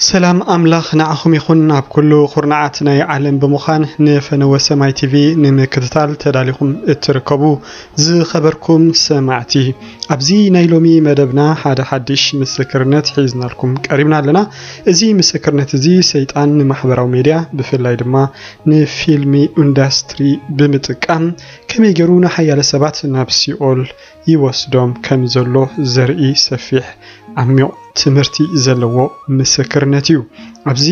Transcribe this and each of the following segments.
ሰላም ኣምላኽ ንዓኹም ይኹን። ኣብ ኩሉ ኩርናዓት ናይ ዓለም ብምዃን ንፈነወ ሰማይ ቲቪ ንምክትታል ተዳሊኹም እትርከቡ ዝኸበርኩም ሰማዕቲ፣ ኣብዚ ናይ ሎሚ መደብና ሓደ ሓድሽ ምስክርነት ሒዝናልኩም ቀሪብና ኣለና። እዚ ምስክርነት እዚ ሰይጣን ንማሕበራዊ ሜድያ፣ ብፍላይ ድማ ንፊልሚ ኢንዳስትሪ ብምጥቃም ከመይ ገይሩ ንሓያለ ሰባት ናብ ሲኦል ይወስዶም ከም ዘሎ ዘርኢ ሰፊሕ ዓሚቕ ትምህርቲ ዘለዎ ምስክርነት እዩ። ኣብዚ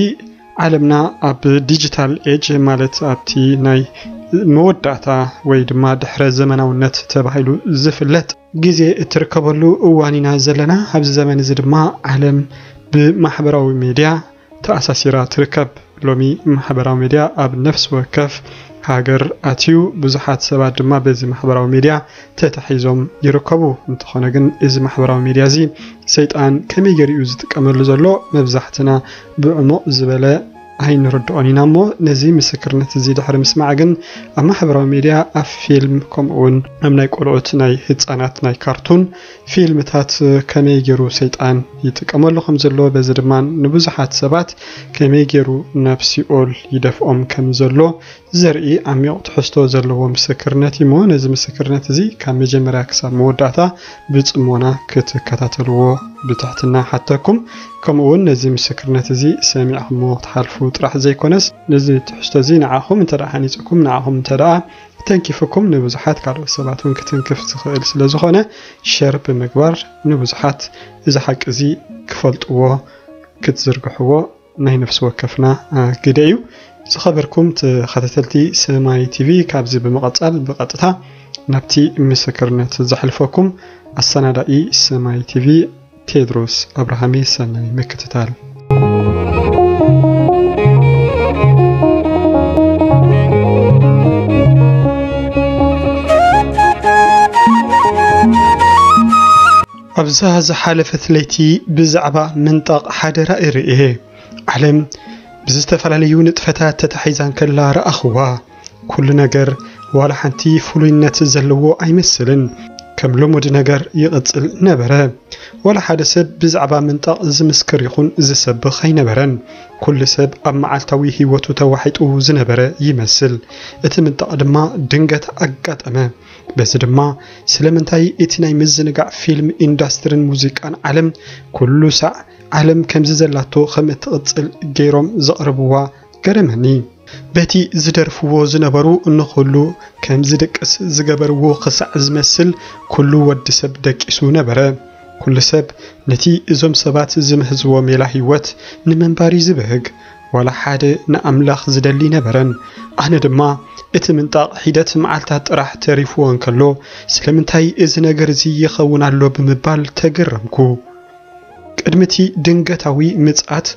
ዓለምና ኣብ ዲጂታል ኤጅ፣ ማለት ኣብቲ ናይ መወዳእታ ወይ ድማ ድሕረ ዘመናውነት ተባሂሉ ዝፍለጥ ግዜ እትርከበሉ እዋን ኢና ዘለና። ኣብዚ ዘመን እዚ ድማ ዓለም ብማሕበራዊ ሜድያ ተኣሳሲራ ትርከብ። ሎሚ ማሕበራዊ ሜድያ ኣብ ነፍሲ ወከፍ ሃገር ኣትዩ፣ ብዙሓት ሰባት ድማ በዚ ማሕበራዊ ሜድያ ተታሒዞም ይርከቡ። እንተኾነ ግን እዚ ማሕበራዊ ሜድያ እዚ ሰይጣን ከመይ ገይሩ እዩ ዝጥቀመሉ ዘሎ መብዛሕትና ብዕሙቕ ዝበለ ኣይንርድኦን ኢና። እሞ ነዚ ምስክርነት እዚ ድሕሪ ምስማዕ ግን ኣብ ማሕበራዊ ሜድያ፣ ኣብ ፊልም፣ ከምኡ እውን ኣብ ናይ ቆልዑት፣ ናይ ህፃናት ናይ ካርቱን ፊልምታት ከመይ ገይሩ ሰይጣን ይጥቀመሉ ከም ዘሎ፣ በዚ ድማ ንብዙሓት ሰባት ከመይ ገይሩ ናብ ሲኦል ይደፍኦም ከም ዘሎ ዘርኢ ዓሚቕ ትሕዝቶ ዘለዎ ምስክርነት እዩ። እሞ ነዚ ምስክርነት እዚ ካብ መጀመርያ ክሳብ መወዳእታ ብጽሞና ክትከታተልዎ ብትሕትና ሓተኩም። ከምኡ እውን ነዚ ምስክርነት እዚ ሰሚዕኩሞ ክትሓልፉ ጥራሕ ዘይኮነስ፣ ነዚ ትሕዝቶ እዚ ንዓኹም እንተ ደኣ ሓኒጽኩም፣ ንዓኹም እንተ ደኣ ተንኪፍኩም፣ ንብዙሓት ካልኦት ሰባት እውን ክትንክፍ ዝኽእል ስለ ዝኾነ፣ ሸር ብምግባር ንብዙሓት እዚ ሓቂ እዚ ክፈልጥዎ ክትዝርግሕዎ ናይ ነፍሲ ወከፍና፣ አ፣ ግደ እዩ። ዝኸበርኩም ተኸታተልቲ ሰማይ ቲቪ፣ ካብዚ ብምቕጻል ብቐጥታ ናብቲ ምስክርነት ዘሕልፈኩም። ኣሰናዳኢ ሰማይ ቲቪ ቴድሮስ ኣብርሃሜ። ሰናይ ምክትታል። ኣብዛ ዝሓለፈት ለይቲ ብዛዕባ ምንጣቕ ሓደ ራእይ ርእየ። ዓለም ብዝተፈላለዩ ንጥፈታት ተታሒዛ እንከላ ረኣኽዋ። ኩሉ ነገር ዋላ ሓንቲ ፍሉይነት ዘለዎ ኣይመስልን። ከም ልሙድ ነገር ይቕጽል ነበረ። ዋላ ሓደ ሰብ ብዛዕባ ምንጣቕ ዝምስክር ይኹን ዝሰብኽ ኣይነበረን። ኩሉ ሰብ ኣብ መዓልታዊ ህይወቱ ተዋሒጡ ዝነበረ ይመስል። እቲ ምንጣቕ ድማ ድንገት ኣጋጠመ። በዚ ድማ ስለምንታይ እቲ ናይ ምዝንጋዕ ፊልም ኢንዳስትርን ሙዚቃን ዓለም ኩሉ ሳዕ ዓለም ከምዚ ዘላቶ ከም እትቕጽል ገይሮም ዘቕርብዋ ገረመኒ። በቲ ዝደርፍዎ ዝነበሩ ንኹሉ ከም ዝድቅስ ዝገበርዎ ክሳዕ ዝመስል ኩሉ ወዲ ሰብ ደቂሱ ነበረ። ኩሉ ሰብ ነቲ እዞም ሰባት ዝምህዝዎ ሜላ ህይወት ንምንባር እዩ ዝብህግ። ዋላ ሓደ ንኣምላኽ ዝደሊ ነበረን። ኣነ ድማ እቲ ምንጣቕ ሒደት መዓልታት ጥራሕ ተሪፍዎ እንከሎ፣ ስለምንታይ እዚ ነገር እዚ ይኸውን ኣሎ ብምባል ተገረምኩ። ቅድሚ እቲ ድንገታዊ ምጽኣት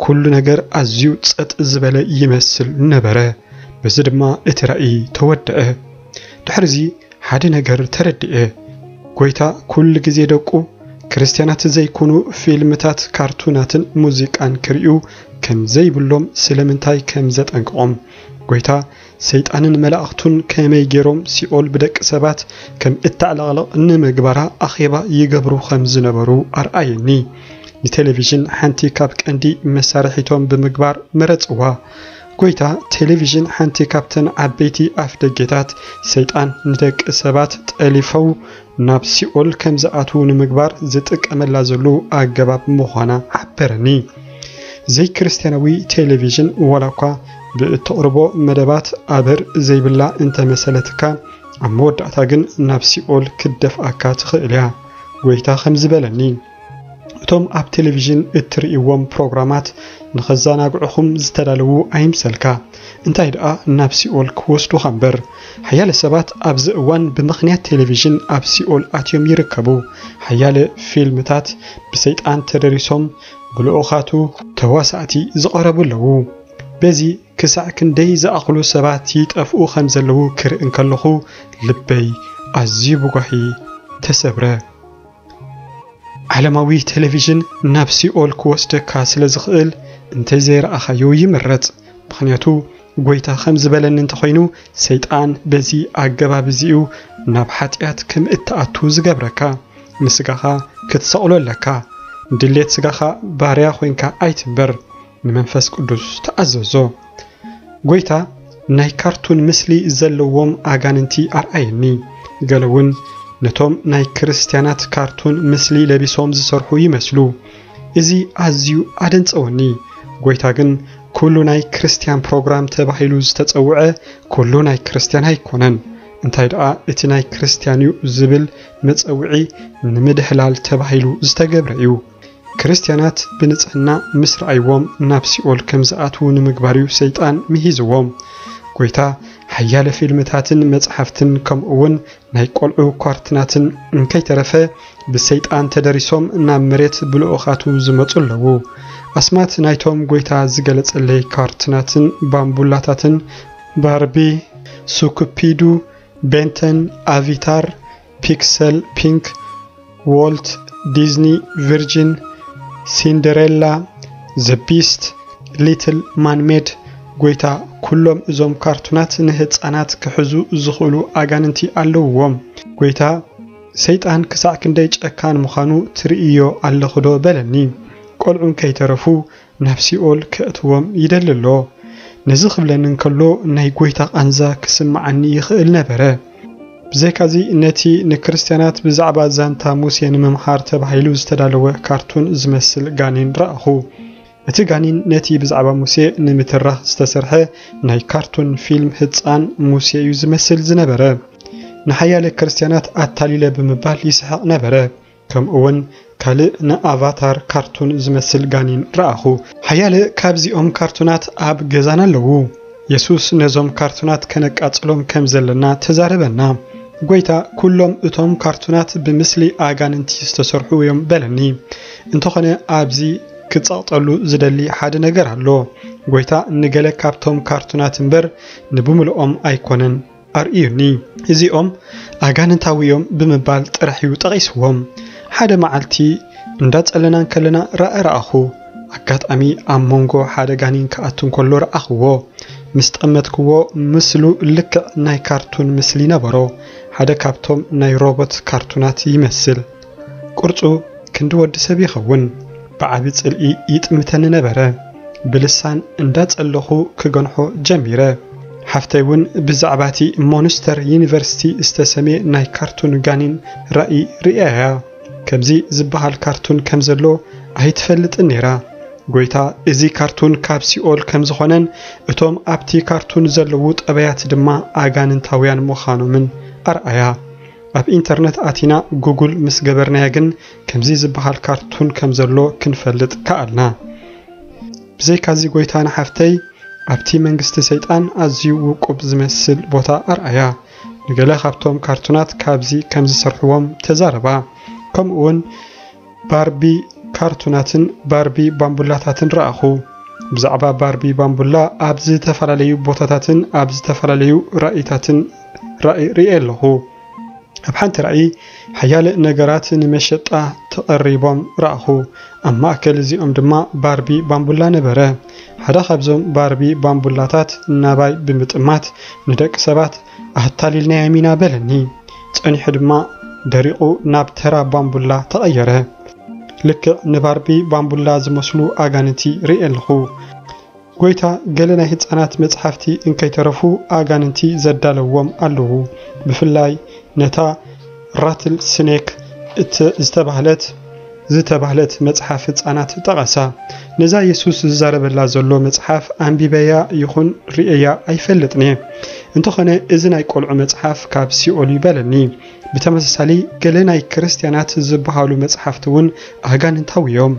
ኩሉ ነገር ኣዝዩ ጸጥ ዝበለ ይመስል ነበረ። በዚ ድማ እቲ ራእይ ተወደአ። ድሕሪዚ ሓደ ነገር ተረድኤ። ጎይታ ኩሉ ግዜ ደቁ ክርስትያናት ዘይኮኑ ፊልምታት፣ ካርቱናትን ሙዚቃን ክርእዩ ከም ዘይብሎም ስለምንታይ ከም ዘጠንቅቖም፣ ጎይታ ሰይጣንን መላእኽቱን ከመይ ገይሮም ሲኦል ብደቂ ሰባት ከም እተዕለቕልቕ ንምግባራ ኣኼባ ይገብሩ ከም ዝነበሩ ኣርኣየኒ። ንቴሌቪዥን ሓንቲ ካብ ቀንዲ መሳርሒቶም ብምግባር መረጽዋ። ጎይታ ቴሌቪዥን ሓንቲ ካብተን ዓበይቲ ኣፍደጌታት ሰይጣን ንደቂ ሰባት ጠሊፈው ናብ ሲኦል ከም ዝኣትዉ ንምግባር ዝጥቀመላ ዘሎ ኣገባብ ምዃና ሓበረኒ። ዘይክርስትያናዊ ቴሌቪዥን ዋላ እኳ ብእተቕርቦ መደባት ኣበር ዘይብላ እንተመሰለትካ፣ ኣብ መወዳእታ ግን ናብ ሲኦል ክትደፍኣካ ትኽእል እያ። ጎይታ ከምዚ በለኒ፣ እቶም ኣብ ቴሌቪዥን እትርእይዎም ፕሮግራማት ንኸዘናግዑኹም ዝተዳለዉ ኣይምሰልካ፣ እንታይ ደኣ ናብ ሲኦል ክወስዱኻ እምበር። ሓያለ ሰባት ኣብዚ እዋን ብምኽንያት ቴሌቪዥን ኣብ ሲኦል ኣትዮም ይርከቡ። ሓያለ ፊልምታት ብሰይጣን ተደሪሶም ብልኡኻቱ ተዋሳእቲ ዝቐረቡ ኣለዉ። በዚ ክሳዕ ክንደይ ዝኣኽሉ ሰባት ይጠፍኡ ከም ዘለዉ ክርኢ እንከለኹ ልበይ ኣዝዩ ብጓሂ ተሰብረ። ዓለማዊ ቴሌቪዥን ናብ ሲኦል ክወስደካ ስለ ዝኽእል እንተዘይረኣኻዮ ይምረጽ። ምኽንያቱ ጎይታ ከም ዝበለኒ እንተኾይኑ ሰይጣን በዚ ኣገባብ እዚ'ዩ ናብ ሓጢኣት ከም እትኣቱ ዝገብረካ። ንስጋኻ ክትሰቕሎ ኣለካ። ድሌት ስጋኻ ባርያ ኮይንካ ኣይትንበር፣ ንመንፈስ ቅዱስ ተኣዘዞ። ጎይታ ናይ ካርቱን ምስሊ ዘለዎም ኣጋንንቲ ኣርኣየኒ። ገለ እውን ነቶም ናይ ክርስትያናት ካርቱን ምስሊ ለቢሶም ዝሰርሑ ይመስሉ። እዚ ኣዝዩ ኣደንጸወኒ። ጎይታ ግን ኩሉ ናይ ክርስትያን ፕሮግራም ተባሂሉ ዝተጸውዐ ኩሉ ናይ ክርስትያን ኣይኮነን። እንታይ ደኣ እቲ ናይ ክርስትያን እዩ ዝብል መጸውዒ ንምድህላል ተባሂሉ ዝተገብረ እዩ። ክርስትያናት ብንጽህና ምስ ረኣይዎም ናብ ሲኦል ከም ዝኣትዉ ንምግባር እዩ ሰይጣን ምሂዝዎም። ጎይታ ሓያለ ፊልምታትን መጽሓፍትን ከምኡ እውን ናይ ቆልዑ ካርትናትን እንከይተረፈ ብሰይጣን ተደሪሶም ናብ መሬት ብልኡኻቱ ዝመጹ ኣለዉ። ኣስማት ናይቶም ጎይታ ዝገለጸለይ ካርትናትን ባምቡላታትን ባርቢ፣ ሱኩፒዱ፣ ቤንተን፣ ኣቪታር፣ ፒክሰል፣ ፒንክ፣ ዎልት ዲዝኒ፣ ቪርጂን፣ ሲንደሬላ፣ ዘ ቢስት፣ ሊትል ማንሜድ፣ ጎይታ፣ ኩሎም እዞም ካርቱናት ንህጻናት ክሕዙ ዝኽእሉ ኣጋንንቲ ኣለውዎም። ጎይታ፣ ሰይጣን ክሳዕ ክንደይ ጨካን ምዃኑ ትርእዮ ኣለኽዶ በለኒ። ቆልዑ እንከይተረፉ ናብ ሲኦል ከእትዎም ይደሊ ኣሎ። ነዚ ክብለኒ እንከሎ ናይ ጎይታ ቃንዛ ክስምዓኒ ይኽእል ነበረ። ብዘይካዚ ነቲ ንክርስትያናት ብዛዕባ ዛንታ ሙሴ ንምምሃር ተባሂሉ ዝተዳለወ ካርቱን ዝመስል ጋኔን ረኣኹ። እቲ ጋኔን ነቲ ብዛዕባ ሙሴ ንምትራኽ ዝተሰርሐ ናይ ካርቱን ፊልም ህጻን ሙሴ እዩ ዝመስል ዝነበረ። ንሓያለ ክርስትያናት ኣታሊለ ብምባል ይስሕቕ ነበረ። ከምኡ እውን ካልእ ንኣቫታር ካርቱን ዝመስል ጋኔን ረኣኹ። ሓያለ ካብዚኦም ካርቱናት ኣብ ገዛና ኣለዉ። የሱስ ነዞም ካርቱናት ከነቃጽሎም ከም ዘለና ተዛረበና። ጎይታ፣ ኩሎም እቶም ካርቱናት ብምስሊ ኣጋንንቲ ዝተሰርሑ እዮም በለኒ። እንተኾነ ኣብዚ ክጸቕጠሉ ዝደሊ ሓደ ነገር ኣሎ። ጎይታ ንገለ ካብቶም ካርቱናት እምበር ንብምልኦም ኣይኮነን ኣርእዩኒ። እዚኦም ኣጋንንታዊ እዮም ብምባል ጥራሕ እዩ ጠቒስዎም። ሓደ መዓልቲ እንዳጸለና እንከለና ራእይ ረኣኹ። ኣጋጣሚ ኣብ መንጎ ሓደ ጋኔን ክኣቱ እንከሎ ረኣኽዎ። ምስ ጠመትክዎ ምስሉ ልክዕ ናይ ካርቱን ምስሊ ነበሮ። ሓደ ካብቶም ናይ ሮቦት ካርቱናት ይመስል። ቅርጹ ክንዲ ወዲ ሰብ ይኸውን። ብዓቢ ጽልኢ ይጥምተኒ ነበረ። ብልሳን እንዳጸለኹ ክገንሖ ጀሚረ። ሓፍተይ እውን ብዛዕባ እቲ ሞንስተር ዩኒቨርሲቲ ዝተሰምየ ናይ ካርቱን ጋኔን ራእይ ርእያ እያ። ከምዚ ዝበሃል ካርቱን ከም ዘሎ ኣይትፈልጥን ነይራ። ጎይታ እዚ ካርቱን ካብ ሲኦል ከም ዝኾነን እቶም ኣብቲ ካርቱን ዘለዉ ጠባያት ድማ ኣጋንንታውያን ምዃኖምን ኣርኣያ። ኣብ ኢንተርነት ኣቲና ጉግል ምስ ገበርናያ ግን ከምዚ ዝበሃል ካርቱን ከም ዘሎ ክንፈልጥ ከኣልና። ብዘይካዚ ጎይታ ንሓፍተይ ኣብቲ መንግስቲ ሰይጣን ኣዝዩ ውቁብ ዝመስል ቦታ ኣርኣያ። ንገለ ካብቶም ካርቱናት ካብዚ ከም ዝሰርሕዎም ተዛረባ። ከምኡ እውን ባርቢ ካርቱናትን ባርቢ ባምቡላታትን ረኣኹ። ብዛዕባ ባርቢ ባምቡላ ኣብ ዝተፈላለዩ ቦታታትን ኣብ ዝተፈላለዩ ራእይታትን ራእይ ርእየ ኣለኹ። ኣብ ሓንቲ ራእይ ሓያለ ነገራት ንመሸጣ ተቐሪቦም ረኣኹ። ኣብ ማእከል እዚኦም ድማ ባርቢ ባምቡላ ነበረ። ሓደ ካብዞም ባርቢ ባምቡላታት ናባይ ብምጥማት ንደቂ ሰባት ኣታሊልናዮም ኢና በለኒ። ጸኒሑ ድማ ደሪቑ ናብ ተራ ባምቡላ ተቐየረ። ልክዕ ንባርቢ ባምቡላ ዝመስሉ ኣጋንንቲ ርእየ ኣለኹ። ጎይታ ገለ ናይ ህጻናት መጽሓፍቲ እንከይተረፉ ኣጋንንቲ ዘዳለዎም ኣለዉ። ብፍላይ ነታ ራትል ስኔክ እተ-፣ ዝተባህለት ዝተባህለት መጽሓፍ ህጻናት ጠቐሳ። ነዛ የሱስ ዝዛረበላ ዘሎ መጽሓፍ ኣንቢበያ ይኹን ርእየያ ኣይፈልጥን እየ። እንተኾነ እዚ ናይ ቆልዑ መጽሓፍ ካብ ሲኦል እዩ በለኒ። ብተመሳሳሊ ገለ ናይ ክርስትያናት ዝበሃሉ መጽሓፍቲ እውን ኣጋንንታዊ እዮም።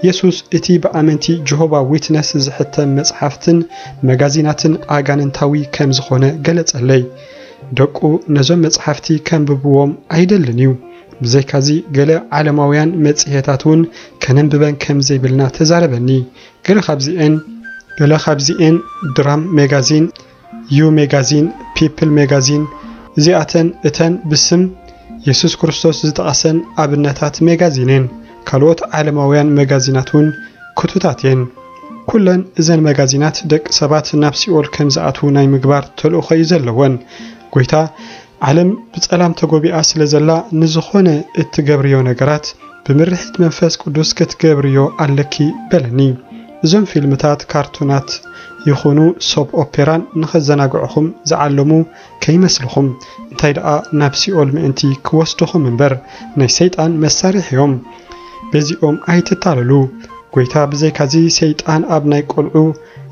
የሱስ እቲ ብኣመንቲ ጀሆቫ ዊትነስ ዝሕተም መጽሓፍትን መጋዚናትን ኣጋንንታዊ ከም ዝኾነ ገለጸለይ። ደቁ ነዞም መጽሓፍቲ ከንብብዎም ኣይደልን እዩ። ብዘይካዚ ገለ ዓለማውያን መጽሔታት እውን ከነንብበን ከም ዘይብልና ተዛረበኒ። ገለ ካብዚኤን፣ ገለ ካብዚኤን ድራም ሜጋዚን፣ ዩ ሜጋዚን፣ ፒፕል ሜጋዚን፣ እዚኣተን እተን ብስም የሱስ ክርስቶስ ዝጠቐሰን ኣብነታት ሜጋዚን እየን። ካልኦት ዓለማውያን መጋዚናት እውን ክቱታት እየን። ኩለን እዘን መጋዚናት ደቂ ሰባት ናብ ሲኦል ከም ዝኣትዉ ናይ ምግባር ተልእኾ እዩ ዘለወን። ጎይታ፣ ዓለም ብጸላም ተጎቢኣ ስለ ዘላ፣ ንዝኾነ እትገብርዮ ነገራት ብምርሒት መንፈስ ቅዱስ ክትገብርዮ ኣለኪ በለኒ። እዞም ፊልምታት፣ ካርቱናት ይኹኑ ሶፕ ኦፔራን ንኸዘናግዕኹም ዝዓለሙ ከይመስልኹም፣ እንታይ ደኣ ናብ ሲኦል ምእንቲ ክወስድኹም እምበር፣ ናይ ሰይጣን መሳርሒ እዮም። በዚኦም ኣይትታለሉ። ጎይታ ብዘይካዚ ሰይጣን ኣብ ናይ ቆልዑ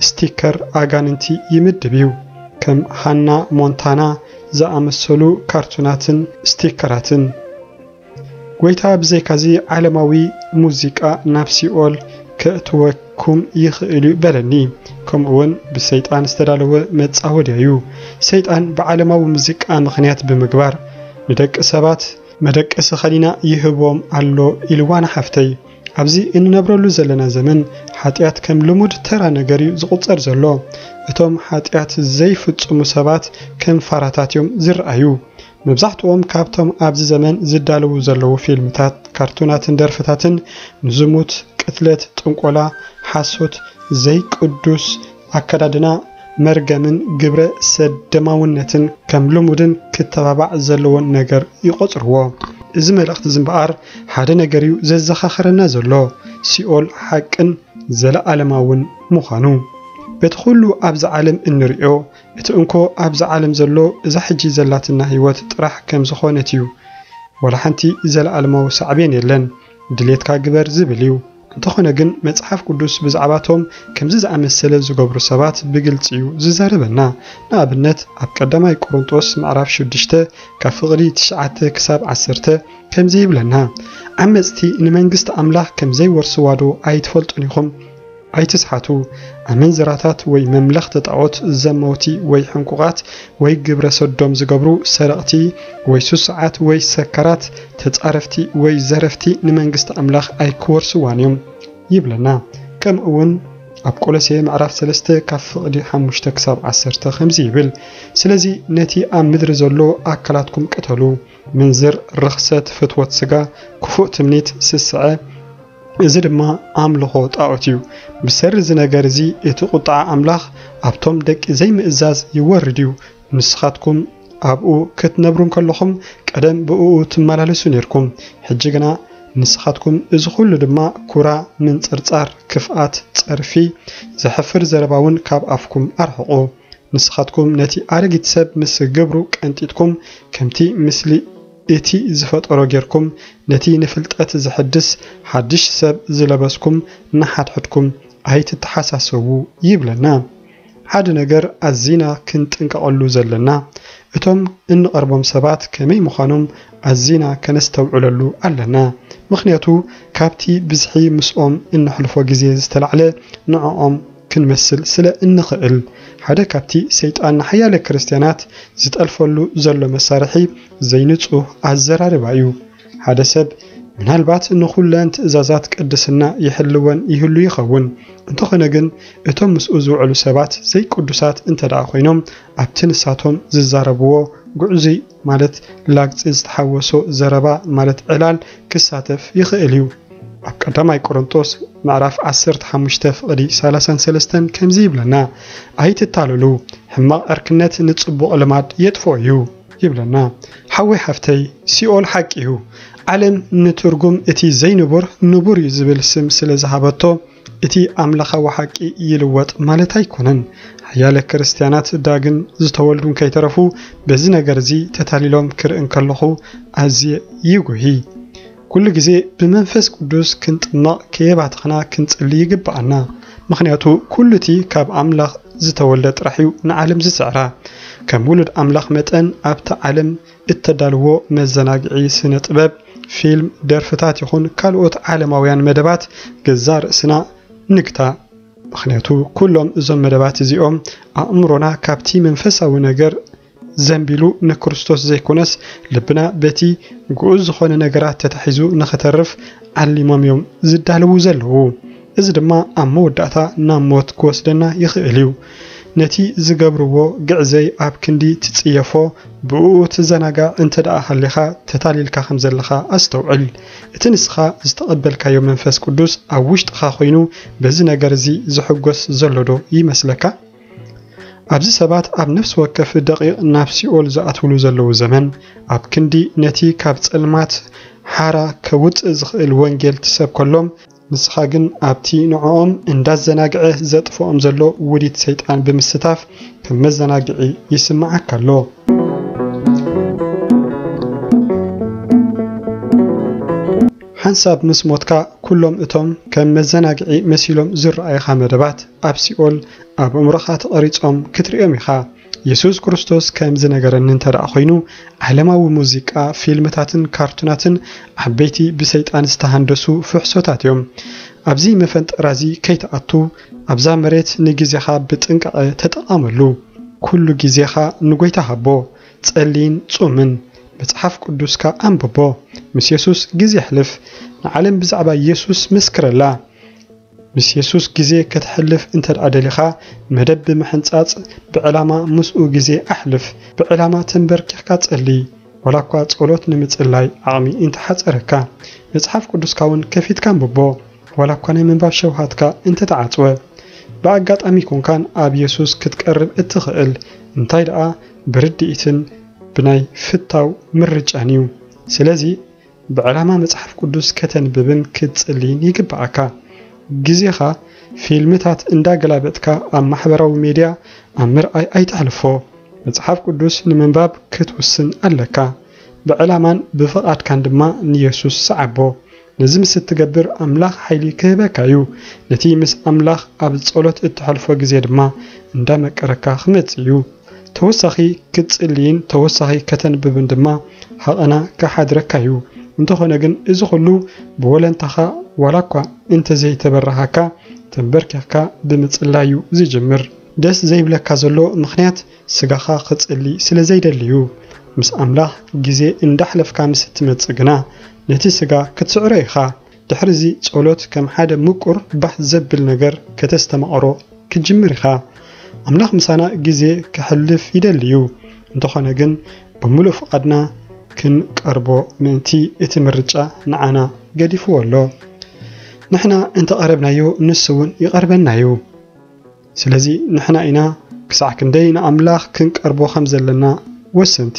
ስቲከር ኣጋንንቲ ይምድብ እዩ፣ ከም ሃና ሞንታና ዝኣመሰሉ ካርቱናትን ስቲከራትን። ጎይታ ብዘይካዚ ዓለማዊ ሙዚቃ ናብ ሲኦል ከእትወኩም ይኽእል እዩ በለኒ። ከምኡ እውን ብሰይጣን ዝተዳለወ መጻወድያ እዩ። ሰይጣን ብዓለማዊ ሙዚቃ ምኽንያት ብምግባር ንደቂ ሰባት መደቀሲ ኸሊና ይህቦም ኣሎ ኢልዋ ንሓፍተይ። ኣብዚ እንነብረሉ ዘለና ዘመን ሓጢኣት ከም ልሙድ ተራ ነገር እዩ ዝቑጸር ዘሎ። እቶም ሓጢኣት ዘይፍጽሙ ሰባት ከም ፋራታት እዮም ዝረኣዩ። መብዛሕትኦም ካብቶም ኣብዚ ዘመን ዝዳለዉ ዘለዉ ፊልምታት፣ ካርቱናትን ደርፍታትን ንዝሙት፣ ቅትለት፣ ጥንቆላ፣ ሓሶት፣ ዘይቅዱስ ኣከዳድና፣ መርገምን ግብረ ሰደማውነትን ከም ልሙድን ክተባባዕ ዘለዎን ነገር ይቖጽርዎ። እዚ መልእኽቲ እዚ እምበኣር ሓደ ነገር እዩ ዘዘኻኽረና ዘሎ፣ ሲኦል ሓቅን ዘለኣለማውን ምዃኑ። በቲ ኩሉ ኣብዚ ዓለም እንርእዮ፣ እቲ እንኮ ኣብዚ ዓለም ዘሎ እዛ ሕጂ ዘላትና ህይወት ጥራሕ ከም ዝኾነት እዩ። ዋላ ሓንቲ ዘለኣለማዊ ሳዕቤን የለን። ድሌትካ ግበር ዝብል እዩ። እንተኾነ ግን መጽሓፍ ቅዱስ ብዛዕባቶም ከምዚ ዝኣመሰለ ዝገብሩ ሰባት ብግልጺ እዩ ዝዛረበና። ንኣብነት ኣብ ቀዳማይ ቆሮንጦስ ምዕራፍ ሽዱሽተ ካብ ፍቕዲ ትሽዓተ ክሳብ ዓሰርተ ከምዚ ይብለና፣ ዓመጽቲ ንመንግስቲ ኣምላኽ ከም ዘይወርስዋ ዶ ኣይትፈልጡን ኢኹም? ኣይትስሓቱ። ኣመንዝራታት ወይ መምለኽቲ ጣዖት፣ ዘመውቲ ወይ ሕንቁቓት ወይ ግብረ ሰዶም ዝገብሩ፣ ሰረቕቲ ወይ ስሱዓት ወይ ሰካራት፣ ተጻረፍቲ ወይ ዘረፍቲ ንመንግስቲ ኣምላኽ ኣይክወርስዋን እዮም ይብለና። ከምኡ እውን ኣብ ቆሎሴ ምዕራፍ ሰለስተ ካብ ፍቕዲ ሓሙሽተ ክሳብ ዓሰርተ ከምዚ ይብል፣ ስለዚ ነቲ ኣብ ምድሪ ዘሎ ኣካላትኩም ቅተሉ፣ ምንዝር፣ ርኽሰት፣ ፍትወት ስጋ፣ ክፉእ ትምኒት፣ ስስዐ፣ እዚ ድማ ኣምልኾ ጣዖት እዩ። ብሰሪ እዚ ነገር እዚ እቲ ቁጥዓ ኣምላኽ ኣብቶም ደቂ ዘይምእዛዝ ይወርድ እዩ። ንስኻትኩም ኣብኡ ክትነብሩ እንከለኹም ቀደም ብእኡ ትመላለሱ ነርኩም። ሕጂ ግና ንስኻትኩም እዚ ኹሉ ድማ ኩራ፣ ምንጽርጻር፣ ክፍኣት፣ ጸርፊ፣ ዘሕፍር ዘረባ እውን ካብ ኣፍኩም ኣርሕቑ። ንስኻትኩም ነቲ ኣረጊት ሰብ ምስ ግብሩ ቀንጢጥኩም፣ ከምቲ ምስሊ እቲ ዝፈጠሮ ጌርኩም፣ ነቲ ንፍልጠት ዘሐድስ ሓድሽ ሰብ ዝለበስኩም ንሓድሕድኩም ኣይትተሓሳሰቡ ይብለና። ሓደ ነገር ኣዚና ክንጥንቀቐሉ ዘለና፣ እቶም እንቐርቦም ሰባት ከመይ ምዃኖም ኣዚና ከነስተውዕለሉ ኣለና። ምኽንያቱ ካብቲ ብዝሒ ምስኦም እነሕልፎ ግዜ ዝተላዕለ ንዕኦም ክንመስል ስለ እንኽእል። ሓደ ካብቲ ሰይጣን ንሓያለ ክርስትያናት ዝጠልፈሉ ዘሎ መሳርሒ ዘይንጹህ ኣዘራርባ እዩ። ሓደ ሰብ ምናልባት ንኹለን ትእዛዛት ቅድስና ይሕልወን ይህሉ ይኸውን። እንተኾነ ግን እቶም ምስኡ ዝውዕሉ ሰባት ዘይቅዱሳት እንተ ደኣ ኮይኖም ኣብቲ ንሳቶም ዝዛረብዎ ግዕዙይ ማለት ላግጺ ዝተሓወሶ ዘረባ ማለት ዕላል ክሳተፍ ይኽእል እዩ። ኣብ ቀዳማይ ቆሮንጦስ ምዕራፍ ዓሰርተ ሓሙሽተ ፍቕዲ ሰላሳን ሰለስተን ከምዚ ይብለና፣ ኣይትታለሉ፣ ሕማቕ ዕርክነት ንጽቡቕ ልማድ የጥፍኦ እዩ ይብለና። ሓወይ ሓፍተይ፣ ሲኦል ሓቂ እዩ። ዓለም ንትርጉም እቲ ዘይንቡር ንቡር እዩ ዝብል ስም ስለ ዝሃበቶ፣ እቲ ኣምላኻዊ ሓቂ ይልወጥ ማለት ኣይኮነን። ሓያለ ክርስትያናት ዳግም ዝተወልዱ እንከይተረፉ በዚ ነገር እዚ ተታሊሎም ክርኢ እንከለኹ ኣዝየ ይጉሂ። ኩሉ ግዜ ብመንፈስ ቅዱስ ክንጥመቕ ከየባተኽና ክንጽሊ ይግብኣና። ምኽንያቱ ኩሉ እቲ ካብ ኣምላኽ ዝተወልደ ጥራሕ እዩ ንዓለም ዝስዕራ። ከም ውሉድ ኣምላኽ መጠን ኣብቲ ዓለም እተዳልዎ መዘናግዒ ስነ ጥበብ፣ ፊልም፣ ደርፍታት ይኹን ካልኦት ዓለማውያን መደባት ገዛእ ርእስና ንግታእ። ምኽንያቱ ኩሎም እዞም መደባት እዚኦም ኣእምሮና ካብቲ መንፈሳዊ ነገር ዘንቢሉ ንክርስቶስ ዘይኮነስ ልብና በቲ ግኡዝ ዝኾነ ነገራት ተታሒዙ ንኽተርፍ ዓሊሞም እዮም ዝዳለዉ ዘለዉ። እዚ ድማ ኣብ መወዳእታ ናብ ሞት ክወስደና ይኽእል እዩ። ነቲ ዝገብርዎ ግዕዘይ ኣብ ክንዲ ትጽየፎ ብእኡ ትዘናጋዕ እንተ ደኣ ሃሊኻ ተታሊልካ ከም ዘለኻ ኣስተውዕል። እቲ ንስኻ ዝተቐበልካዮ መንፈስ ቅዱስ ኣብ ውሽጥኻ ኮይኑ በዚ ነገር እዚ ዝሕጎስ ዘሎ ዶ ይመስለካ? ኣብዚ ሰባት ኣብ ነፍሲ ወከፍ ደቂቕ ናብ ሲኦል ዝኣትውሉ ዘለዉ ዘመን፣ ኣብ ክንዲ ነቲ ካብ ጸልማት ሓራ ከውጽእ ዝኽእል ወንጌል ትሰብከሎም፣ ንስኻ ግን ኣብቲ ንዕኦም እንዳዘናግዐ ዘጥፍኦም ዘሎ ውዲት ሰይጣን ብምስታፍ ከም መዘናግዒ ይስምዓካ ኣሎ። ሓንሳብ ምስ ሞትካ፣ ኩሎም እቶም ከም መዘናግዒ መሲሎም ዝረኣዩኻ መደባት፣ ኣብ ሲኦል ኣብ ኣእምሮኻ ተቐሪጾም ክትርእዮም ኢኻ። የሱስ ክርስቶስ ከም ዝነገረኒ እንተ ደኣ ኾይኑ፣ ዓለማዊ ሙዚቃ፣ ፊልምታትን ካርቱናትን ዓበይቲ ብሰይጣን ዝተሃንደሱ ፍሕሶታት እዮም። ኣብዚ መፈንጠራ እዚ ከይትኣቱ፣ ኣብዛ መሬት ንግዜኻ ብጥንቃቐ ተጠቐመሉ። ኩሉ ግዜኻ ንጎይታ ሃቦ። ጸልይን ጹምን። መጽሓፍ ቅዱስካ ኣንብቦ። ምስ የሱስ ግዜ ኣሕልፍ። ንዓለም ብዛዕባ የሱስ መስክረላ። ምስ የሱስ ግዜ ከተሕልፍ እንተ ደኣ ደሊኻ፣ መደብ ብምሕንጻጽ ብዕላማ ምስኡ ግዜ ኣሕልፍ። ብዕላማ ተንበርኪኽካ ጸሊ። ዋላ እኳ ጸሎት ንምጽላይ ዓቕሚ እንተሓጸረካ፣ መጽሓፍ ቅዱስካ እውን ከፊትካ ኣንብቦ። ዋላ እኳ ናይ ምንባብ ሸውሃትካ እንተተዓጽወ፣ ብኣጋጣሚ ኮንካን ኣብ የሱስ ክትቀርብ እትኽእል፣ እንታይ ደኣ ብርድኢትን ብናይ ፍታው ምርጫን እዩ። ስለዚ ብዕላማ መጽሓፍ ቅዱስ ከተንብብን ክትጽልይን ይግብኣካ። ግዜኻ ፊልምታት እንዳገላበጥካ ኣብ ማሕበራዊ ሜድያ ኣብ ምርኣይ ኣይተሕልፎ። መጽሓፍ ቅዱስ ንምንባብ ክትውስን ኣለካ። ብዕላማን ብፍቓድካን ድማ ንየሱስ ሰዓቦ። ነዚ ምስ እትገብር ኣምላኽ ሓይሊ ክህበካ እዩ። ነቲ ምስ ኣምላኽ ኣብ ጸሎት እተሕልፎ ግዜ ድማ እንዳመቀረካ ክመጽእ እዩ። ተወሳኺ ክትጽልይን ተወሳኺ ከተንብብን ድማ ሃቐና ክሓድረካ እዩ። እንተኾነ ግን እዚ ኹሉ ብወለንታኻ ዋላ እኳ እንተዘይተበረሃካ ተንበርኪኽካ ብምጽላይ እዩ ዝጅምር። ደስ ዘይብለካ ዘሎ ምኽንያት ስጋኻ ክጽሊ ስለ ዘይደሊ እዩ። ምስ ኣምላኽ ግዜ እንዳሕለፍካ ምስ እትመጽእ ግና ነቲ ስጋ ክትስዕሮ ኢኻ። ድሕሪዚ ጸሎት ከም ሓደ ምቁር ባህ ዘብል ነገር ከተስተማቕሮ ክትጅምር ኢኻ። ኣምላኽ ምሳና ግዜ ከሕልፍ ይደሊ እዩ። እንተኾነ ግን ብምሉእ ፍቓድና ክንቀርቦ ምእንቲ እቲ ምርጫ ንዓና ገዲፍዎ ኣሎ። ንሕና እንተቐረብናዮ ንሱ እውን ይቐርበና እዩ። ስለዚ ንሕና ኢና ክሳዕ ክንደይ ንኣምላኽ ክንቀርቦ ከም ዘለና ወሰንቲ።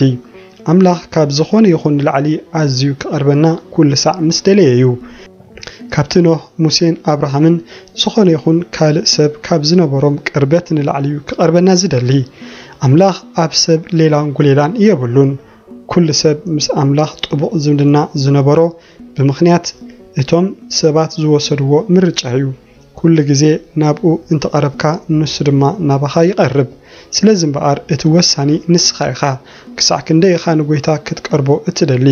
ኣምላኽ ካብ ዝኾነ ይኹን ንላዕሊ ኣዝዩ ክቐርበና ኩሉ ሳዕ ምስ ደለየ እዩ። ካብቲ ኖህ፣ ሙሴን ኣብርሃምን ዝኾነ ይኹን ካልእ ሰብ ካብ ዝነበሮም ቅርበት ንላዕሊ እዩ ክቐርበና ዝደሊ። ኣምላኽ ኣብ ሰብ ሌላን ጉሌላን የብሉን። ኩሉ ሰብ ምስ ኣምላኽ ጥቡቕ ዝምድና ዝነበሮ ብምኽንያት እቶም ሰባት ዝወሰድዎ ምርጫ እዩ። ኩሉ ግዜ ናብኡ እንተቐረብካ፣ ንሱ ድማ ናባኻ ይቐርብ። ስለዚ እምበኣር እቲ ወሳኒ ንስኻ ኢኻ። ክሳዕ ክንደይ ኢኻ ንጎይታ ክትቀርቦ እትደሊ?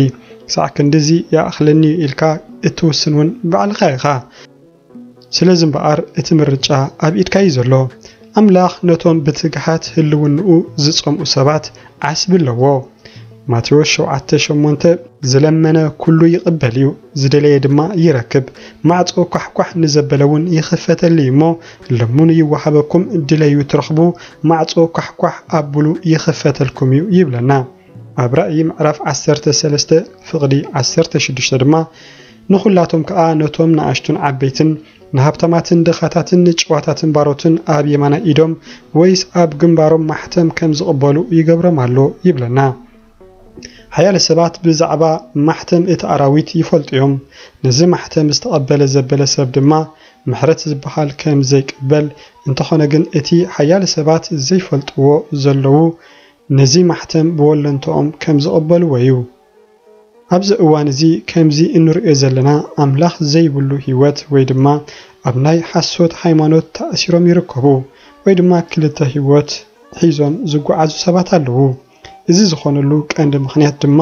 ክሳዕ ክንድዚ ይኣኽለኒ ኢልካ እትውስን እውን ባዕልኻ ኢኻ። ስለዚ እምበኣር እቲ ምርጫ ኣብ ኢድካ እዩ ዘሎ። ኣምላኽ ነቶም ብትግሃት ህልውንኡ ዝጸምኡ ሰባት ዓስቢ ኣለዎ። ማቴዎስ ሸውዓተ ሸሞንተ፣ ዝለመነ ኩሉ ይቕበል እዩ፣ ዝደለየ ድማ ይረክብ፣ ማዕጾ ኳሕኳሕ ንዘበለ እውን ይኽፈተሉ እዩ እሞ፣ ለምኑ ይወሃበኩም፣ ድለዩ ትረኽቡ፣ ማዕጾ ኳሕኳሕ ኣብሉ ይኽፈተልኩም እዩ ይብለና። ኣብ ራእይ ምዕራፍ ዓሰርተ ሰለስተ ፍቕዲ ዓሰርተ ሽዱሽተ ድማ፣ ንኹላቶም ከኣ ነቶም ንኣሽቱን ዓበይትን፣ ንሃብታማትን ድኻታትን ንጭዋታትን ባሮትን ኣብ የማናይ ኢዶም ወይስ ኣብ ግንባሮም ማሕተም ከም ዝቕበሉ ይገብሮም ኣሎ ይብለና። ሓያለ ሰባት ብዛዕባ ማሕተም እቲ ኣራዊት ይፈልጡ እዮም። ነዚ ማሕተም ዝተቐበለ ዘበለ ሰብ ድማ ምሕረት ዝበሃል ከም ዘይቅበል፣ እንተኾነ ግን እቲ ሓያለ ሰባት ዘይፈልጥዎ ዘለዉ ነዚ ማሕተም ብወለንትኦም ከም ዝቕበልዎ እዩ። ኣብዚ እዋን እዚ ከምዚ እንርእዮ ዘለና ኣምላኽ ዘይብሉ ህይወት ወይ ድማ ኣብ ናይ ሓሶት ሃይማኖት ተኣሲሮም ይርከቡ ወይ ድማ ክልተ ህይወት ሒዞም ዝጓዓዙ ሰባት ኣለዉ። እዚ ዝኾነሉ ቀንዲ ምኽንያት ድማ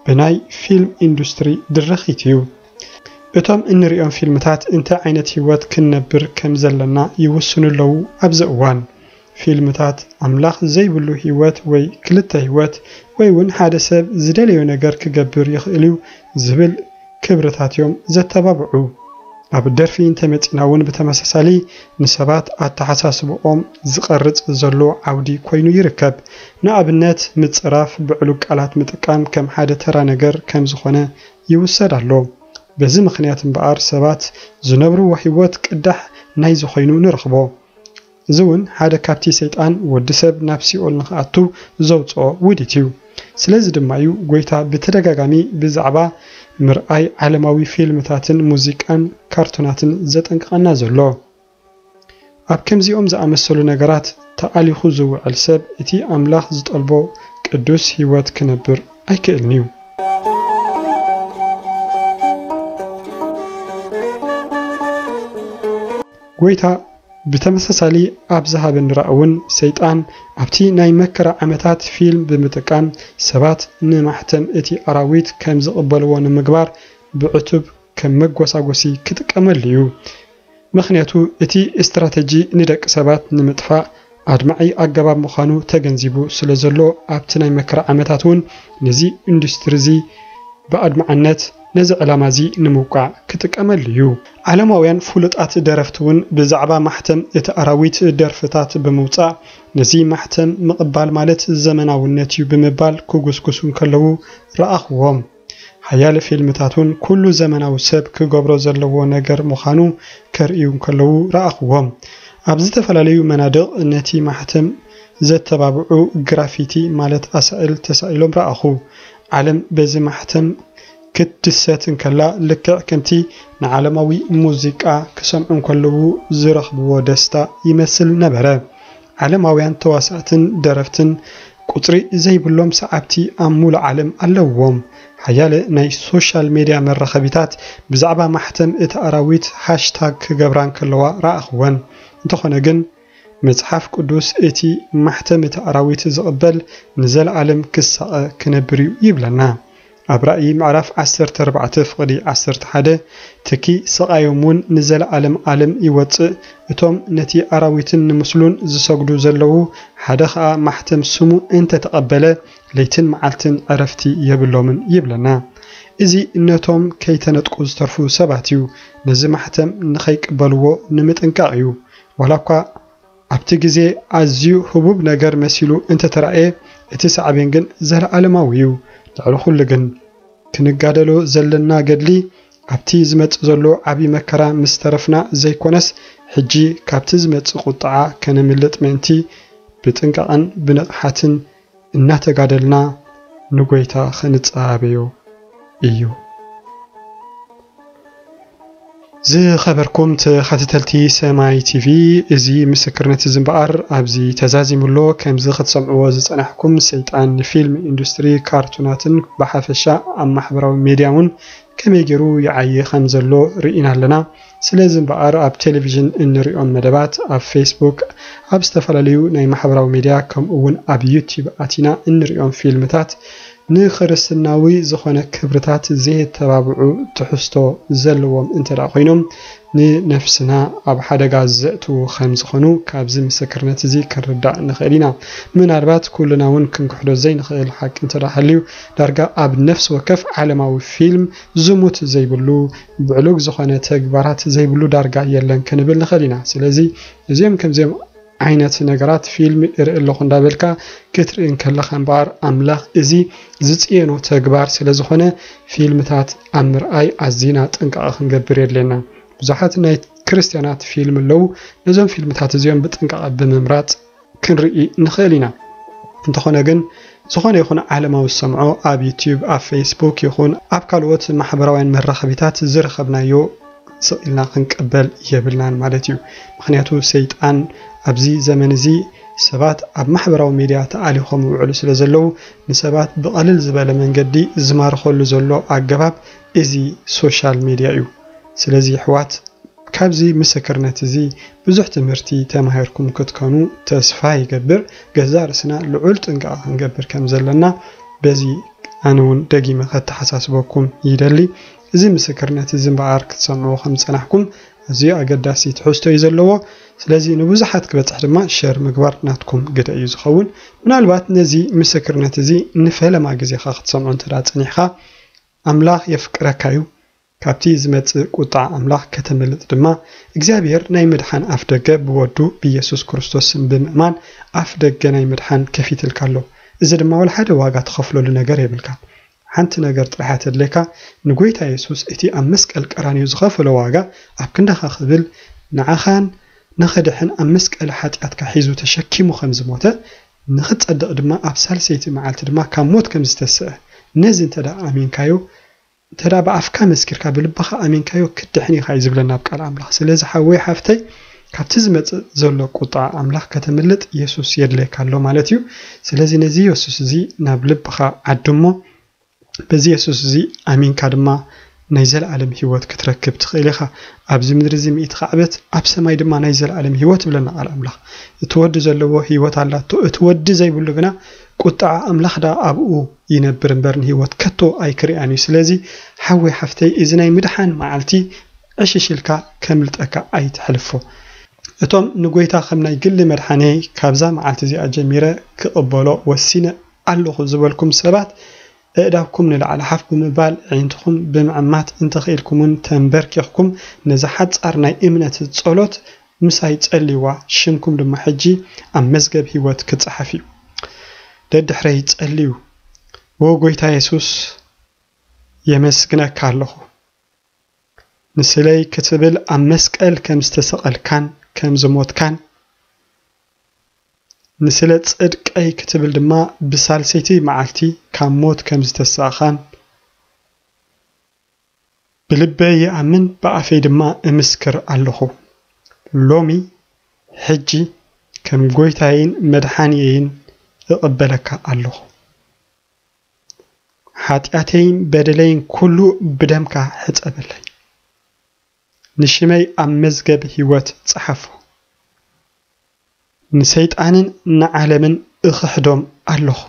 ብናይ ፊልም ኢንዱስትሪ ድርኺት እዩ። እቶም እንርእዮም ፊልምታት እንታይ ዓይነት ህይወት ክንነብር ከም ዘለና ይውስኑ ኣለዉ ኣብዚ እዋን። ፊልምታት ኣምላኽ ዘይብሉ ህይወት ወይ ክልተ ህይወት ወይ እውን ሓደ ሰብ ዝደለዮ ነገር ክገብር ይኽእል እዩ ዝብል ክብርታት እዮም ዘተባብዑ። ኣብ ደርፊ እንተመጺና እውን ብተመሳሳሊ ንሰባት ኣተሓሳስብኦም ዝቐርጽ ዘሎ ዓውዲ ኮይኑ ይርከብ። ንኣብነት ምጽራፍ፣ ብዕሉግ ቃላት ምጥቃም ከም ሓደ ተራ ነገር ከም ዝኾነ ይውሰድ ኣሎ። በዚ ምኽንያት እምበኣር ሰባት ዝነብርዎ ህይወት ቅዳሕ ናይ ዝኾይኑ ንረኽቦ። እዚ እውን ሓደ ካብቲ ሰይጣን ወዲ ሰብ ናብ ሲኦል ንኽኣቱ ዘውፅኦ ውዲት እዩ። ስለዚ ድማ እዩ ጎይታ ብተደጋጋሚ ብዛዕባ ምርኣይ ዓለማዊ ፊልምታትን ሙዚቃን ካርቱናትን ዘጠንቅቐና ዘሎ። ኣብ ከምዚኦም ዝኣመሰሉ ነገራት ተኣሊኹ ዝውዕል ሰብ እቲ ኣምላኽ ዝጠልቦ ቅዱስ ህይወት ክነብር ኣይክእልን እዩ። ጎይታ ብተመሳሳሊ ኣብ ዝሃበኒ ራእይ እውን ሰይጣን ኣብቲ ናይ መከራ ዓመታት ፊልም ብምጥቃም ሰባት ንማሕተም እቲ ኣራዊት ከም ዝቕበልዎ ንምግባር ብዕቱብ ከም መጎሳጎሲ ክጥቀመሉ እዩ። ምኽንያቱ እቲ ስትራተጂ ንደቂ ሰባት ንምጥፋእ ኣድማዒ ኣገባብ ምዃኑ ተገንዚቡ ስለ ዘሎ ኣብቲ ናይ መከራ ዓመታት እውን ነዚ ኢንዱስትሪ እዚ ብኣድማዕነት ነዚ ዕላማ እዚ ንምውቃዕ ክጥቀመሉ እዩ። ዓለማውያን ፍሉጣት ደረፍቲ እውን ብዛዕባ ማሕተም እቲ ኣራዊት ደርፍታት ብምውጻእ ነዚ ማሕተም ምቕባል ማለት ዘመናውነት እዩ ብምባል ክጉስጉሱ እንከለዉ ረኣኽዎም። ሓያለ ፊልምታት እውን ኩሉ ዘመናዊ ሰብ ክገብሮ ዘለዎ ነገር ምዃኑ ከርእዩ እንከለዉ ረኣኽዎም። ኣብ ዝተፈላለዩ መናድቕ ነቲ ማሕተም ዘተባብዑ ግራፊቲ ማለት ኣሳእል ተሳኢሎም ረኣኹ። ዓለም በዚ ማሕተም ክትድሰት እንከላ ልክዕ ከምቲ ንዓለማዊ ሙዚቃ ክሰምዑ እንከለዉ ዝረኽብዎ ደስታ ይመስል ነበረ። ዓለማውያን ተዋሳእትን ደረፍትን ቁጽሪ ዘይብሎም ሰዓብቲ ኣብ ሙሉእ ዓለም ኣለውዎም። ሓያለ ናይ ሶሻል ሜድያ መራኸቢታት ብዛዕባ ማሕተም እቲ ኣራዊት ሃሽታግ ክገብራ እንከለዋ ረኣኽወን። እንተኾነ ግን መጽሓፍ ቅዱስ እቲ ማሕተም እቲ ኣራዊት ዝቕበል ንዘለኣለም ክሳቐ ክነብር እዩ ይብለና። ኣብ ራእይ ምዕራፍ ዓሰርተ ኣርባዕተ ፍቕዲ ዓሰርተ ሓደ ትኪ ስቓዮም እውን ንዘለኣለም ዓለም ይወጽእ፣ እቶም ነቲ ኣራዊትን ንምስሉን ዝሰግዱ ዘለዉ፣ ሓደ ኸኣ ማሕተም ስሙ እንተተቐበለ ለይትን መዓልትን ዕረፍቲ የብሎምን ይብለና። እዚ ነቶም ከይተነጥቁ ዝተርፉ ሰባት እዩ። ነዚ ማሕተም ንኸይቅበልዎ ንምጥንቃቕ እዩ። ዋላ እኳ ኣብቲ ግዜ ኣዝዩ ህቡብ ነገር መሲሉ እንተተራእየ፣ እቲ ሳዕቤን ግን ዘለኣለማዊ እዩ። ልዕሊ ኩሉ ግን ክንጋደሎ ዘለና ገድሊ ኣብቲ ዝመጽእ ዘሎ ዓቢ መከራ ምስ ተረፍና ዘይኮነስ፣ ሕጂ ካብቲ ዝመጽእ ቁጥዓ ከነምልጥ ምእንቲ ብጥንቃቕን ብንቕሓትን እናተጋደልና ንጎይታ ክንጸባበዮ እዩ። ዝኸበርኩም ተኸታተልቲ ሰማይ ቲቪ፣ እዚ ምስክርነት እዚ እምበኣር ኣብዚ ተዛዚሙ ኣሎ። ከምዚ ክትሰምዕዎ ዝጸናሕኩም፣ ሰይጣን ንፊልም ኢንዱስትሪ፣ ካርቱናትን ብሓፈሻ ኣብ ማሕበራዊ ሜድያ እውን ከመይ ገይሩ ይዓዪ ከም ዘሎ ርኢና ኣለና። ስለዚ እምበኣር ኣብ ቴሌቪዥን እንሪኦም መደባት፣ ኣብ ፌስቡክ፣ ኣብ ዝተፈላለዩ ናይ ማሕበራዊ ሜድያ ከምኡ እውን ኣብ ዩቲዩብ ኣቲና እንሪኦም ፊልምታት ንክርስትናዊ ዝኾነ ክብርታት ዘየተባብዑ ትሕዝቶ ዘለዎም እንተ ደኣ ኮይኖም፣ ንነፍስና ኣብ ሓደጋ ዘእትዉ ከም ዝኾኑ ካብዚ ምስክርነት እዚ ክንርዳእ ንኽእል ኢና። ምናልባት ኩልና እውን ክንክሕዶ ዘይንኽእል ሓቂ እንተ ደኣ ሃልዩ፣ ዳርጋ ኣብ ነፍሲ ወከፍ ዓለማዊ ፊልም ዝሙት ዘይብሉ፣ ብዕሉግ ዝኾነ ተግባራት ዘይብሉ ዳርጋ የለን ክንብል ንኽእል ኢና። ስለዚ እዚኦም ከምዚኦም ዓይነት ነገራት ፊልም እርኢ ኣለኹ እንዳበልካ ክትርኢ እንከለኻ እምበኣር፣ ኣምላኽ እዚ ዝጽየኖ ተግባር ስለ ዝኾነ፣ ፊልምታት ኣብ ምርኣይ ኣዚና ጥንቃቐ ክንገብር የድልየና። ብዙሓት ናይ ክርስትያናት ፊልም ኣለዉ። ነዞም ፊልምታት እዚኦም ብጥንቃቐ ብምምራጽ ክንርኢ ንኽእል ኢና። እንተኾነ ግን፣ ዝኾነ ይኹን ዓለማዊ ዝሰምዖ ኣብ ዩቲዩብ፣ ኣብ ፌስቡክ ይኹን ኣብ ካልኦት ማሕበራውያን መራኸቢታት ዝረኸብናዮ ስቕ ኢልና ክንቅበል የብልናን ማለት እዩ። ምኽንያቱ ሰይጣን ኣብዚ ዘመን እዚ ሰባት ኣብ ማሕበራዊ ሜድያ ተኣሊኾም ይውዕሉ ስለ ዘለዉ፣ ንሰባት ብቐልል ዝበለ መንገዲ ዝማርኸሉ ዘሎ ኣገባብ እዚ ሶሻል ሜድያ እዩ። ስለዚ ኣሕዋት፣ ካብዚ ምስክርነት እዚ ብዙሕ ትምህርቲ ተማሂርኩም ክትኮኑ ተስፋ ይገብር። ገዛእ ርእስና ልዑል ጥንቃቐ ክንገብር ከም ዘለና በዚ ኣነ እውን ደጊመ ከተሓሳስበኩም ይደሊ። እዚ ምስክርነት እዚ እምበኣር ክትሰምዕዎ ከም ዝጸናሕኩም ኣዝዩ ኣገዳሲ ትሕዝቶ እዩ ዘለዎ። ስለዚ ንብዙሓት ክበጽሕ ድማ ሸር ምግባር ናትኩም ግደ እዩ ዝኸውን። ምናልባት ነዚ ምስክርነት እዚ ንፈለማ ግዜኻ ክትሰምዖ እንተ ደኣ ጸኒሕካ፣ ኣምላኽ የፍቅረካ እዩ። ካብቲ ዝመጽእ ቁጥዓ ኣምላኽ ከተምልጥ ድማ እግዚኣብሔር ናይ ምድሓን ኣፍደገ ብወዱ ብኢየሱስ ክርስቶስ ስም ብምእማን ኣፍደገ ናይ ምድሓን ከፊትልካ ኣሎ። እዚ ድማ ወላ ሓደ ዋጋ ትኸፍለሉ ነገር የብልካን። ሓንቲ ነገር ጥራሕ እያ ተድልየካ፣ ንጎይታ የሱስ እቲ ኣብ መስቀል ቀራንዮ ዝኸፈሎ ዋጋ ኣብ ክንዳኻ ክብል ንዓኻን ንኽድሕን ኣብ መስቀል ሓጢኣትካ ሒዙ ተሸኪሙ ከም ዝሞተ ንኽጸድቕ ድማ ኣብ ሳልሰይቲ መዓልቲ ድማ ካብ ሞት ከም ዝተስአ፣ ነዚ እንተ ደኣ ኣሚንካዮ፣ እንተ ደኣ ብኣፍካ መስኪርካ ብልብኻ ኣሚንካዮ ክትድሕን ኢኻ እዩ ዝብለና ኣብ ቃል ኣምላኽ። ስለዚ ሓወይ ሓፍተይ፣ ካብቲ ዝመጽእ ዘሎ ቁጣ ኣምላኽ ከተምልጥ የሱስ የድልየካ ኣሎ ማለት እዩ። ስለዚ ነዚ የሱስ እዚ ናብ ልብኻ ዓድሞ። በዚ የሱስ እዚ ኣሚንካ ድማ ናይ ዘለኣለም ህይወት ክትረክብ ትኽእል ኢኻ። ኣብዚ ምድሪ እዚ ሚእቲ ካዕበት፣ ኣብ ሰማይ ድማ ናይ ዘለኣለም ህይወት ይብለና ቃል ኣምላኽ። እቲ ወዲ ዘለዎ ህይወት ኣላቶ። እቲ ወዲ ዘይብሉ ግና ቁጥዓ ኣምላኽ ደኣ ኣብኡ ይነብር እምበር ንህይወት ከቶ ኣይክርኣን እዩ። ስለዚ ሓወይ ሓፍተይ፣ እዚ ናይ ምድሓን መዓልቲ ዕሽሽ ኢልካ ከምልጠካ ኣይትሕልፎ። እቶም ንጎይታ ከም ናይ ግሊ መድሓነይ ካብዛ መዓልቲ እዚኣ ጀሚረ ክቕበሎ ወሲነ ኣለኹ ዝበልኩም ሰባት፣ ኣእዳውኩም ንላዕሊ ሓፍ ብምባል፣ ኣዒንትኹም ብምዕማት፣ እንተኽኢልኩም እውን ተንበርኪኽኩም ነዛ ሓጻር ናይ እምነት ጸሎት ምሳይ ጸልይዋ፣ ሽምኩም ድማ ሕጂ ኣብ መዝገብ ህይወት ክጸሓፍ እዩ። ደድሕረይ ጸልዩ። ዎ ጎይታ የሱስ፣ የመስግነካ ኣለኹ። ንስለይ ክትብል ኣብ መስቀል ከም ዝተሰቐልካን ከም ዝሞትካን፣ ንስለ ጽድቀይ ክትብል ድማ ብሳልሰይቲ መዓልቲ ካብ ሞት ከም ዝተሳእኻን፣ ብልበይ ይኣምን፣ ብኣፈይ ድማ እምስክር ኣለኹ። ሎሚ፣ ሕጂ፣ ከም ጎይታይን መድሓንየይን እቕበለካ ኣለኹ። ሓጢኣተይን በደለይን ኩሉ ብደምካ ሕጸበለይ። ንሽመይ ኣብ መዝገብ ህይወት ጸሓፎ። ንሰይጣንን ንዓለምን እኽሕዶም ኣለኹ።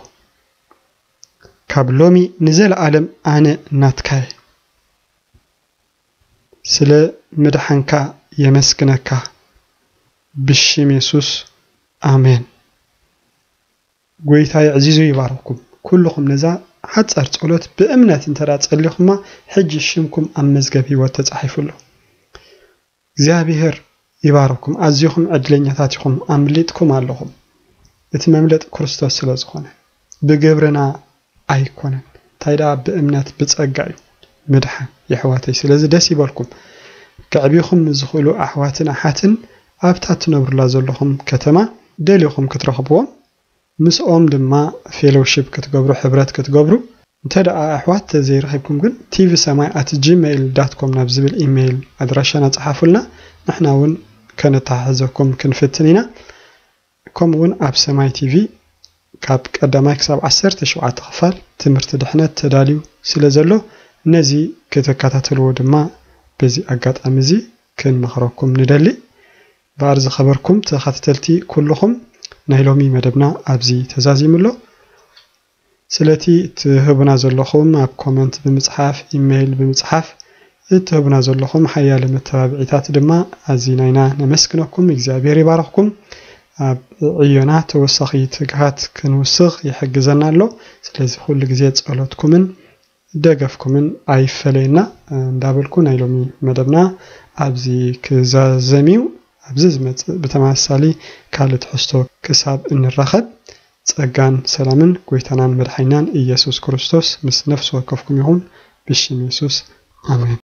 ካብ ሎሚ ንዘለኣለም ኣነ ናትካየ። ስለ ምድሓንካ የመስግነካ። ብሽም የሱስ፣ ኣሜን። ጎይታ የዕዚዙ ይባርኽኩም። ኩልኹም ነዛ ሓጻር ጸሎት ብእምነት እንተ ደኣ ጸሊኹማ፣ ሕጂ ሽምኩም ኣብ መዝገብ ህይወት ተጻሒፉ ኣሎ። እግዚኣብሔር ይባርኽኩም። ኣዚኹም ዕድለኛታት ኢኹም፣ ኣምሊጥኩም ኣለኹም። እቲ መምለጢ ክርስቶስ ስለ ዝኾነ፣ ብግብርና ኣይኮነን። እንታይ ደኣ ብእምነት ብጸጋ እዩ ምድሓን፣ የሕዋተይ። ስለዚ ደስ ይበልኩም። ከዕቢኹም ዝኽእሉ ኣሕዋትን ኣሓትን ኣብታ ትነብሩላ ዘለኹም ከተማ ደሊኹም ክትረኽብዎም፣ ምስኦም ድማ ፌሎውሺፕ ክትገብሩ፣ ሕብረት ክትገብሩ። እንተ ደኣ ኣሕዋት ዘይረኺብኩም ግን፣ ቲቪ ሰማይ ኣት ጂሜይል ዳት ኮም ናብ ዝብል ኢሜይል ኣድራሻና ጸሓፉልና። ንሕና እውን ከነተሓሕዘኩም ክንፍትን ኢና። ከምኡ እውን ኣብ ሰማይ ቲቪ ካብ ቀዳማይ ክሳብ ዓሰርተ ሸውዓተ ክፋል ትምህርቲ ድሕነት ተዳልዩ ስለ ዘሎ፣ ነዚ ክትከታተልዎ ድማ በዚ ኣጋጣሚ እዚ ክንመኽረኩም ንደሊ። እምበኣር ዝኸበርኩም ተኸታተልቲ ኩልኹም፣ ናይ ሎሚ መደብና ኣብዚ ተዛዚሙ ኣሎ። ስለቲ ትህቡና ዘለኹም ኣብ ኮመንት ብምጽሓፍ፣ ኢሜይል ብምጽሓፍ እትህቡና ዘለኹም ሓያለ መተባብዒታት ድማ ኣዚና ኢና ነመስግነኩም። እግዚኣብሔር ይባርኽኩም። ኣብ ዕዮና ተወሳኺ ትግሃት ክንውስኽ ይሕግዘና ኣሎ። ስለዚ ኩሉ ግዜ ጸሎትኩምን ደገፍኩምን ኣይፈለየና እንዳበልኩ፣ ናይ ሎሚ መደብና ኣብዚ ክዛዘም እዩ። ኣብዚ ዝመጽእ ብተመሳሳሊ ካልእ ትሕዝቶ ክሳብ እንራኸብ፣ ጸጋን ሰላምን ጎይታናን መድሓኒናን ኢየሱስ ክርስቶስ ምስ ነፍሲ ወከፍኩም ይኹን። ብሽም የሱስ፣ ኣሜን።